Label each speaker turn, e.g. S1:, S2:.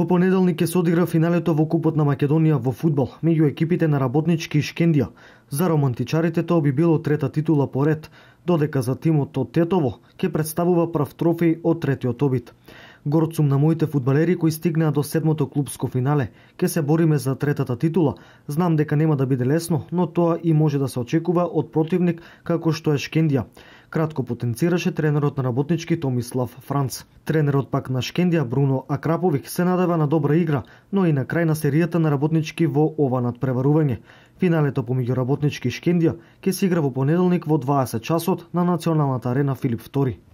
S1: Во понеделник ќе се одигра финалето во Купот на Македонија во фудбал меѓу екипите на Работнички и Шкендија. За романтичарите тоа би било трета титула поред, додека за тимот од Тетово ќе представува прв трофеј од третиот обид. Горд сум на моите фудбалери кои стигнаа до седмото клубско финале. Ќе се бориме за третата титула. Знам дека нема да биде лесно, но тоа и може да се очекува од противник како што е Шкендија. Кратко потенцираше тренерот на Работнички Томислав Франц. Тренерот пак на Шкендија Бруно Акраповик се надева на добра игра, но и на крај на серијата на Работнички во ова надпреварување. Финалето помеѓу Работнички и Шкендија ќе се игра во понеделник во 20 часот на Националната арена Филип II.